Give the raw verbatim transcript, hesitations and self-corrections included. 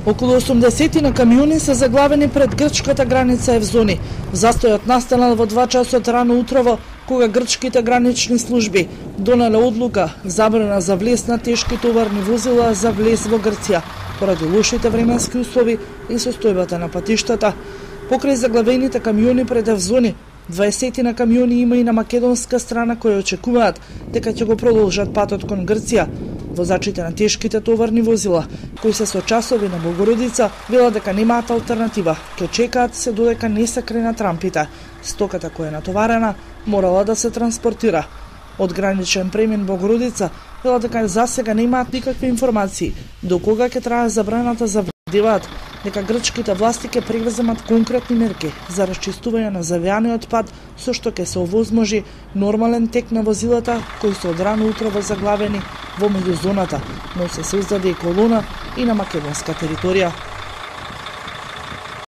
Околу осумдесет на камиони се заглавени пред грчката граница Евзони. Застојот настанал во два часот рано утрово, кога грчките гранични служби донеле одлука забрана за влез на тешки товарни возила за влез во Грција, поради лошите временски услови и состојбата на патиштата. Покрај заглавените камиони пред Евзони, дваесет на камиони има и на македонска страна кои очекуваат дека ќе го продолжат патот кон Грција. Возачите на тешките товарни возила, кои се со часови на Богородица, велат дека немаат алтернатива. Ке чекаат се додека не се кренат рампите. Стоката која е натоварена морала да се транспортира. Од граничен премин Богородица велат дека за сега немаат никакви информации до кога ќе трае забраната за вдеваат дека грчките власти ќе превземат конкретни мерки за расчистување на завијаниот пат, со што ќе се овозможи нормален тек на возилата кои се од рано утрово заглавени во меѓузоната, но се создаде и колона и на македонска територија.